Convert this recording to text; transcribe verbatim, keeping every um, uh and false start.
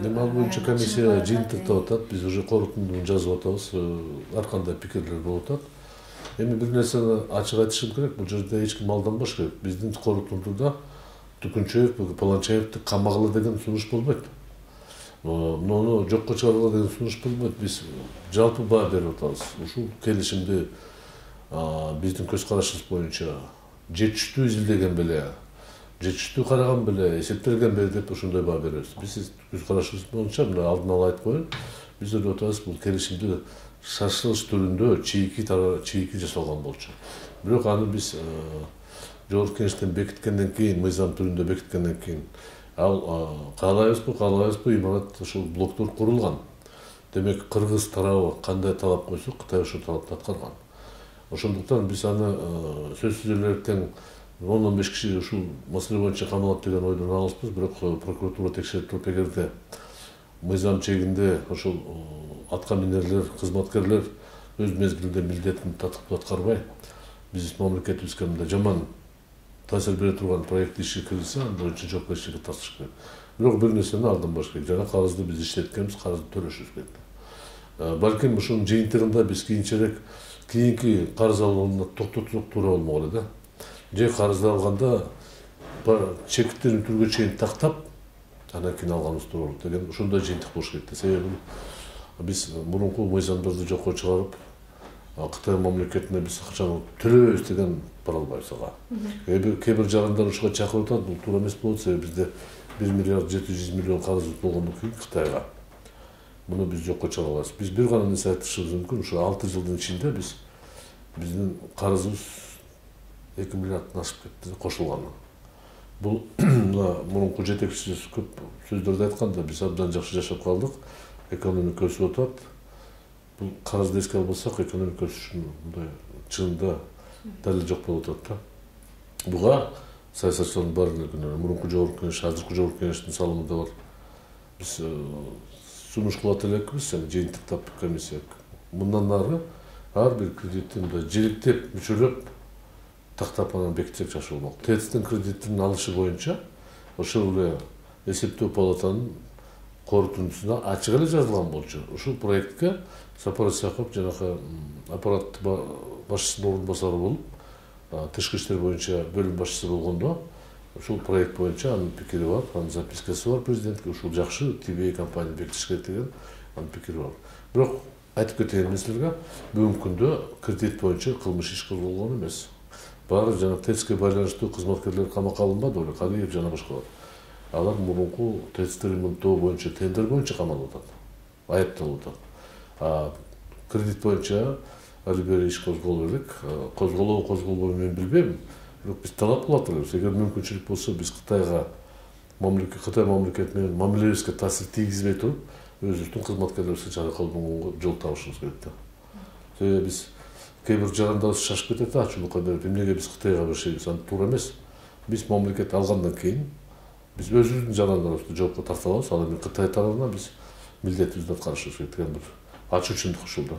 Эми ал боюнча комиссия жыйынтыктап атат, биз уже корутундуну жазып атабыз, ар кандай пикирлер болуп атат. Эми бир нерсени ачык айтышым керек, бул жерде эч ким алданбаш керек. Биздин корутундуда Түкүнчаев, Паланчаевди камагыла деген сунуш болбойт. Муну жокко чыгаргыла деген сунуш болбойт. Биз жалпы баа берип атабыз. Ушул келишимди биздин көз карашыбыз боюнча жетиштүү изилдеген беле, жетиштүү караган беле, эсептелген беле деп ошондой баа беребиз. Биз көз карашыбыз боюнча мына алдын ала айтып коеюн, биз ойлоп атабыз бул келишимди шашылыш түрүндө чийки чийки жасалган болчу. Бирок аны биз жогорку кеңештен бекиткенден кийин, мыйзам түрүндө бекиткенден кийин ал каалайбызбы, каалабайбызбы, имарат ушул блоктор курулган. Демек, кыргыз тарабы кандай талап койсо, Кытай ошол талапты аткарган. Ошондуктан биз аны сөзсүз эле тең он он беш киши ушул маселе боюнча камалат деген ойдон алыспыз, бирок прокуратура текшерип туруп эгерде мыйзам чегинде ошол атка минерлер, кызматкерлер өз мезгилинде милдетин татыктуу аткарбай, биз мамлекетибизге мындай жаман таасир бере турган проект иши киргизсе, аны боюнча жоопкерчиликке тартыш керек. Бирок бир нерсени алданбаш керек. Жана карызды биз иштеткенбиз, карызды төлөшүбүз керек. Балким ушунун жыйынтыгында биз кийинчерээк кийинки карыз алууну токтотсок туура болмок эле да. Же карызды алганда чекиттерин түргө чейин тактап, анан кийин алганыбыз туура болот деген ошондой жыйынтык болуш керек да. Себеби биз мурунку мыйзамдарды жокко чыгарып, Кытай мамлекетине биз акчаны төлөбөйбүз деген бара албайбыз ага. Кээ бир жарандар ушуга чакырып атат, бул туура эмес болот, себеби бизде бир миллиард жети жүз миллион карызыбыз болгондон кийин Кытайга муну биз жокко чыгара алабыз. Биз бир гана нерсе айтышыбыз мүмкүн, ушу алты жылдын ичинде биз биздин карызыбыз эки миллиарддан ашып кетти кошулганы. Бул мурунку жетекчи көп сөздөрдү айтканда биз абдан жакшы жашап калдык, экономика өсүп атат. Бул карызды эске албасак, экономика өсүшүнүн мындай чынында далили жок болуп атат да. Буга саясатчылардын баары эле күнөө. Мурунку жогорку кеңеш, азыркы жогорку кеңештин салымы да бар. Биз сунуш кылат элекпиз, жыйынтыктап комиссия. Мындан ары ар бир кредитти мындай жиликтеп, мүчөлөп, тактап анан бекитсек жакшы болмок. ТЭЦтин кредитин алышы боюнча ошол эле эсептөө палатанын корутундусунда ачык эле жазылган болчу. Ушул проектке Сапар Исаков жанагы аппарат башчысынын орун басары болуп, тышкы иштер боюнча бөлүм башчысы болгондо, ушул проект боюнча анын пикири бар, анын запискасы бар президентке, ушул жакшы ти би эй компания бекитиш керек деген анын пикири бар. Бирок айтып кетейин мен силерге, бүгүнкү күндө кредит боюнча кылмыш иш козголгон эмес. Баары жана ТЭЦке байланыштуу кызматкерлер камакка алынбады беле, Калиев жана башкалар. Алар мурунку ТЭЦти ремонттоо боюнча тендер боюнча камалып атат, айыпталып атат. А кредит боюнча али бери иш козголо элек, козголобу козголбойбу мен билбейм, бирок биз талап кылып атабыз. Эгер мүмкүнчүлүк болсо биз Кытайга мамлекет Кытай мамлекети менен мамилебизге таасир тийгизбей туруп, өзүбүздүн кызматкерлерибизге жаракат болгонго жол табышыбыз керек да. Себеби биз кээ бир жарандарыбыз шашып кетет, ачуулукка берип, эмнеге биз Кытайга беришебиз, аны туура эмес. Биз мамлекет алгандан кийин биз өзүбүздүн жарандарыбызды жоопко тарта алабыз, ал эми Кытай тарабына биз милдетибизди аткарышыбыз керек деген бир ачуучундук ушул да.